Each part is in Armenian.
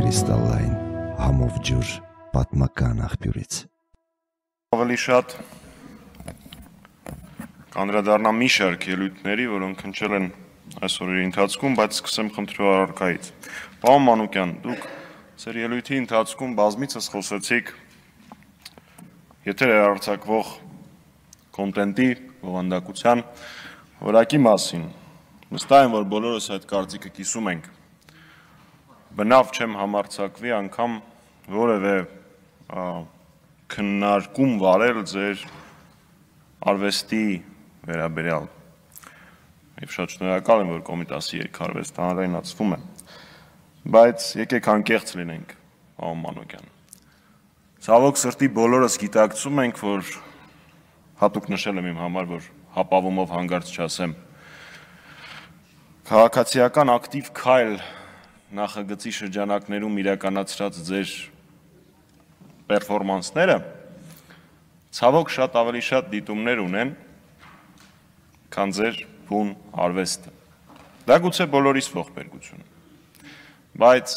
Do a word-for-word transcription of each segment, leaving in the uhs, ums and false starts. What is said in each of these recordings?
Կրիստալային համով ջուր պատմական աղբյուրից։ Ավելի շատ կանդրադառնամ մի շարք ելույթների, որոնք հնչել են այս օրերի ընթացքում, բայց սկսեմ խնդրու առարկայից։ Պարոն Մանուկյան, դուք ձեր ելույթի ընթացքում բազմիցս խոսեցիք եթեր հեռարձակվող կոնտենտի, բովանդակության որակի մասին։ Վստահ եմ, որ բոլորս այդ կարծիքը կիսում ենք։ Բնավ չեմ համարձակվի անգամ որևէ քննարկում վարել ձեր արվեստի վերաբերյալ։ Եվ շատ շնորհակալ եմ, որ Կոմիտասի երգարվեստը հանրայնացվում է։ Բայց եկեք անկեղծ լինենք, պարոն Մանուկյան։ Ցավոք սրտի բոլորս գիտակցում ենք, որ հատուկ նշել եմ իմ համար, որ հապավումով հանգարց չասեմ։ Քաղաքացիական ակտիվ քայլ նախագծի շրջանակներում իրականացրած ձեր պերֆորմանսները ցավոք շատ ավելի շատ դիտումներ ունեն, քան ձեր բուն արվեստը։ Դա գուցե բոլորիս ողբերգություն։ Բայց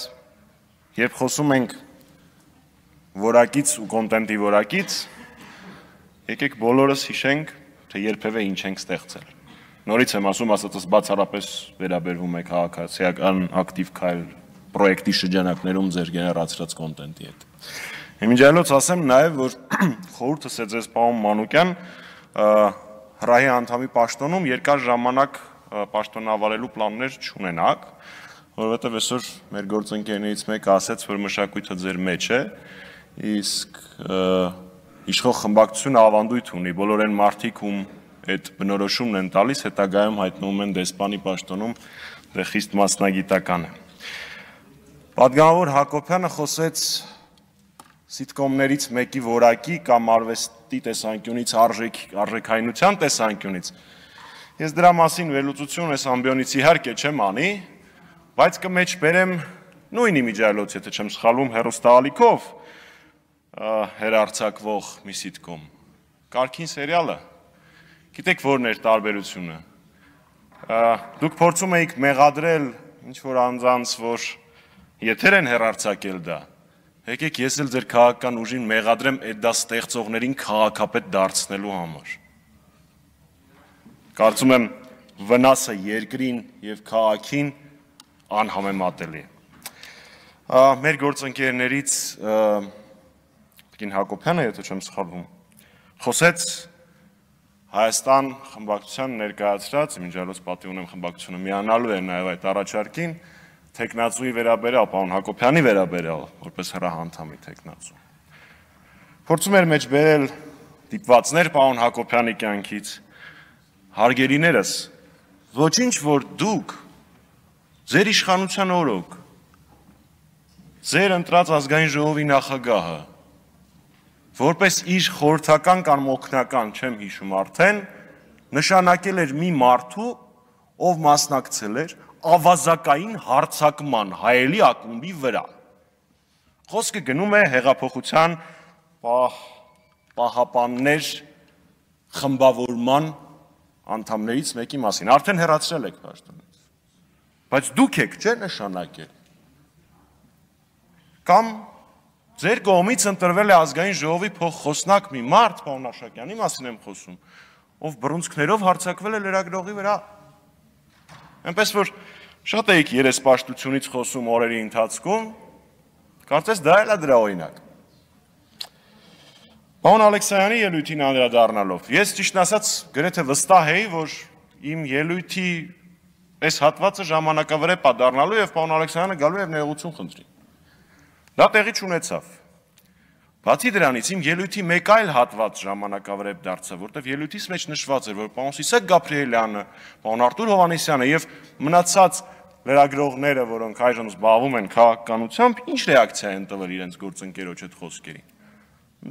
երբ խոսում ենք որակից ու կոնտենտի որակից, եկեք բոլորս հիշենք, թե երբևէ ինչ ենք ստեղծել։ Նորից եմ ասում, ասածս բացառապես վերաբերվում է քաղաքացիական ակտիվ քայլ պրոյեկտի շրջանակներում ձեր գեներացրած կոնտենտի հետ։ Իմիջիայլոց ասեմ նաև, որ խորհուրդս է ձեզ, պարոն Մանուկյան, հրահի անդամի պաշտոնում երկար ժամանակ պաշտոնավարելու պլաններ չունենաք, որովհետև այսօր մեր գործընկերներից մեկը ասաց, որ մշակույթը ձեր մեջ է, իսկ իշխող խմբակցությունը ավանդույթ ունի, բոլոր այն մարդիկ, ում այդ բնորոշումն են տալիս, հետագայում հայտնվում են դեսպանի պաշտոնում, դե խիստ մասնագիտական է։ Պատգամավոր Հակոբյանը խոսեց սիտկոմներից մեկի որակի կամ արվեստի տեսանկյունից արժեքայնության տեսանկյունից։ Ես դրա մասին վերլուծություն այս ամբիոնից իհարկե չեմ անի, բայց կմեջբերեմ նույն իմիջիայլոց, եթե չեմ սխալվում, հեռուստաալիքով հեռարձակվող մի սիտկոմ։ Կարգին սերիալը։ Գիտեք որն էր տարբերությունը։ Դուք փորձում էիք մեղադրել ինչ-որ անձանց, որ եթեր են հեռարձակել դա, եկեք ես էլ ձեր քաղաքական ուժին մեղադրեմ այդ դա ստեղծողներին քաղաքապետ դարձնելու համար։ Կարծում եմ վնասը երկրին և քաղաքին անհամեմատելի է։ Մեր գործընկերներից Տիկին Հակոբյանը, եթե չեմ սխալվում, խոսեց Հայաստան խմբակցության ներկայացրած, իմիջիայլոց պատիվ ունեմ խմբակցությունը միանալու է նաև այդ առաջարկին, թեկնածուի վերաբերյալ, պարոն Հակոբյանի վերաբերյալ, որպես հրահանդամի թեկնածու։ Փորձում էր մեջ բերել դիպվածներ պարոն Հակոբյանի կյանքից, հարգելիներս, ոչինչ որ դուք, ձեր իշխանության օրոք, ձեր ընտրած ազգային ժողովի նախագահը, որպես իր խորհրդական կամ օգնական, չեմ հիշում արդեն, նշանակել էր մի մարդու, ով մասնակցել էր ավազակային հարձակման հայելի ակումբի վրա։ Խոսքը գնում է հեղափոխության պահապաններ խմբավորման անդամներից մեկի մասին, արդեն հեռացրել եք պաշտոնից, բայց դուք եք չէ նշանակել, կամ ձեր կողմից ընտրվել է ազգային ժողովի փոխխոսնակ մի մարդ, պարոն Աշակյանի մասին եմ խոսում, ով բռունցքներով հարձակվել է լրագրողի վրա։ Այնպես որ շատ էիք երեսպաշտությունից խոսում օրերի ընթացքում, կարծես դա էլ է դրա օրինակ։ Պարոն Ալեքսանյանի ելույթին անդրադառնալով, ես ճիշտն ասած գրեթե վստահ էի, որ իմ ելույթի այս հատվածը ժամանակավրեպ է դառնալու և պարոն Ալեքսանյանը գալու և ներողություն խնդրի։ Դա տեղի չունեցավ։ Բացի դրանից իմ ելույթի մեկ այլ հատված ժամանակավրեպ դարձավ, որտեղ ելույթիս մեջ նշված էր, որ պարոն Սիսակ Գաբրիելյանը, պարոն Արտուր Հովհաննիսյանը և մնացած լրագրողները, որոնք այժմ զբաղվում են քաղաքականությամբ, ինչ ռեակցիա են տվել իրենց գործընկերոջ այդ խոսքերին։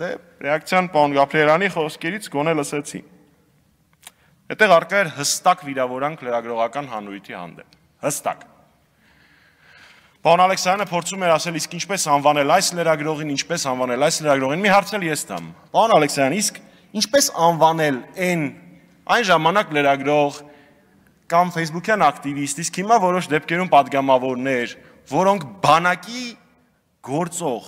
Դե ռեակցիան պարոն Գաբրիելյանի խոսքերից գոնե լսեցի։ Այդտեղ առկա էր հստակ վիրավորանք լրագրողական հանրույթի հանդեպ։ Հստակ։ Պարոն Ալեքսանյանը փորձում էր ասել, իսկ ինչպես անվանել այս լրագրողին, ինչպես անվանել այս լրագրողին, մի հարցել ես տամ։ Պարոն Ալեքսանյան, իսկ ինչպես անվանել այն այն ժամանակ լրագրող կամ Facebook-յան ակտիվիստ, իսկ հիմա որոշ դեպքերում պատգամավորներ, որոնք բանակի գործող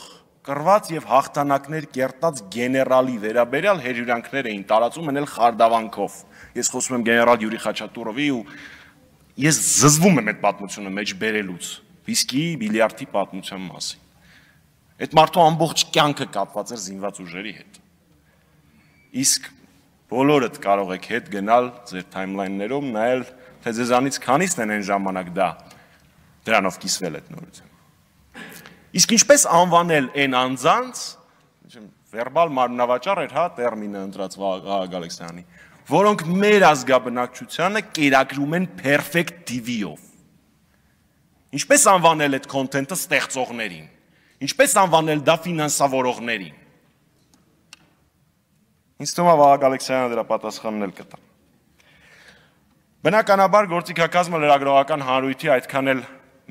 կռված եւ հաղթանակներ կերտած գեներալի վերաբերյալ հերյուրանքներ էին տարածում են էլ խարդավանքով։ Ես խոսում եմ գեներալ Յուրի Խաչատուրովի ու ես զզվում եմ այդ պատմությունը մեջ բերելուց վիսկի, բիլիարդի պատմության մասին։ Այդ մարդու ամբողջ կյանքը կապված էր զինված ուժերի հետ։ Իսկ բոլորդ կարող եք հետ գնալ ձեր թայմլայններով, նայել, թե ձեզանից քանիսն են այն ժամանակ դա դրանով կիսվել այդ նորություն։ Իսկ ինչպես անվանել այն անձանց, վերբալ մարմնավաճառ էր, հա, տերմինը ընտրած Վահագն Ալեքսանյանի, որոնք մեր ազգաբնակչությանը կերակրում են perfect T V-ով։ Ինչպես անվանել այդ content-ը ստեղծողներին։ Ինչպես անվանել դա ֆինանսավորողներին։ Ինձ թվում է Վահագն Ալեքսանյանը դրա պատասխանն էլ կտա։ Բնականաբար գործիքակազմը լրագրողական հանրույթի այդքան էլ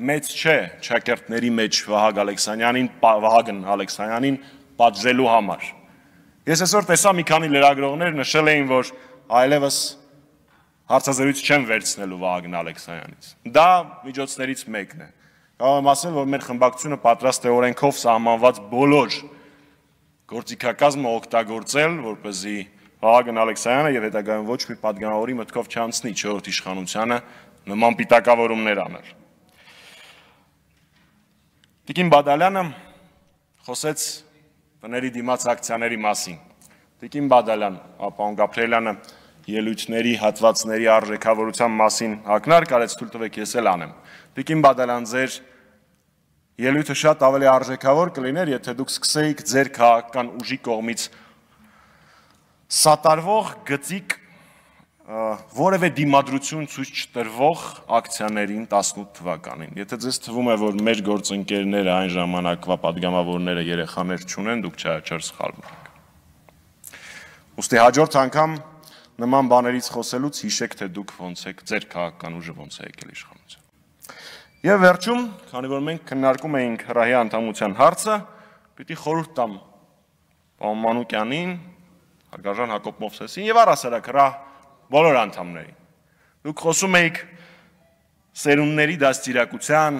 մեծ չէ շակերտների մեջ Վահագն Ալեքսանյանին, Վահագն Ալեքսանյանին պատժելու համար։ Ես այսօր տեսա մի քանի լրագրողներ նշել էին, որ այլևս հարցազրույց չեն վերցնելու Վահագն Ալեքսանյանից։ Դա միջոցներից մեկն է։ Կարող եմ ասել, որ մեր խմբակցությունը պատրաստ է օրենքով սահմանված բոլոր գործիքակազմը օգտագործել, որպեսզի Վահագն Ալեքսանյանը եւ հետագայում ոչ մի պատգամավորի մտքով չանցնի չորրորդ իշխանությանը նման պիտակավորումներ անել։ Տիկին Բադալյանը խոսեց տների դիմաց ակցիաների մասին։ Տիկին Բադալյան, պարոն Գաբրիելյանը ելույթների, հատվածների արժեքավորության մասին ակնարկ արեց, թույլ տվեք ես էլ անեմ։ Տիկին Բադալյան, ձեր ելույթը շատ ավելի արժեքավոր կլիներ, եթե դուք սկսեիք ձեր քաղաքական ուժի կողմից սատարվող գծիկ որևէ դիմադրություն ցույց չտրվող ակցիաներին տասնութ թվականին։ Եթե ձեզ թվում է, որ մեր գործընկերները այն ժամանակվա падգամավորները երեխաներ չունեն, դուք չար սխալվում եք։ Ուստի հաջորդ անգամ նման բաներից խոսելուց հիշեք, թե դուք ոնց եք, ձեր քաղաքական ուժը ոնց է եկել իշխանության։ Եվ վերջում, քանի որ մենք քննարկում էինք հրահի անդամության հարցը, պիտի խորհուրդ տամ պարոն Մանուկյանին, հարգարժան Հակոբ Մովսեսին եւ առհասարակ հրահ բոլոր անդամներին։ Դուք խոսում էիք սերունդների դաստիարակության,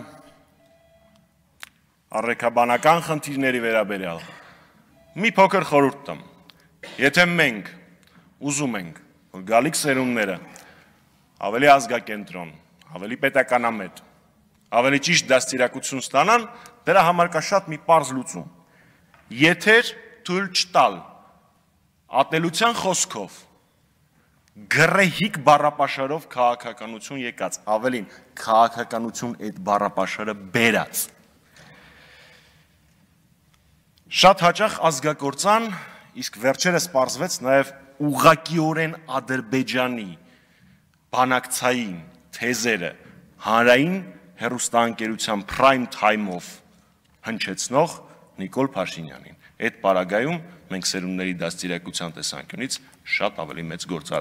առաքաբանական խնդիրների վերաբերյալ։ Մի փոքր խորհուրդ տամ։ Եթե մենք ուզում ենք, որ գալիք սերունդները ավելի ազգակենտրոն, ավելի պետականամետ, ավելի ճիշտ դաստիարակություն ստանան, դրա համար կա շատ մի պարզ լուծում։ Եթեր թույլ չտալ ատելության խոսքով գրեհիկ բառապաշարով քաղաքականություն եկած, ավելին քաղաքականություն այդ բառապաշարը բերած։ Շատ հաճախ ազգակործան, իսկ վերջերս պարզվեց նաև ուղղակիորեն Ադրբեջանի բանակցային թեզերը հանրային հեռուստաընկերության prime time-ով հնչեցնող Նիկոլ Փաշինյանին։ Այդ պարագայում մենք սերունդների դաստիարակության տեսանկյունից շատ ավելի մեծ գործ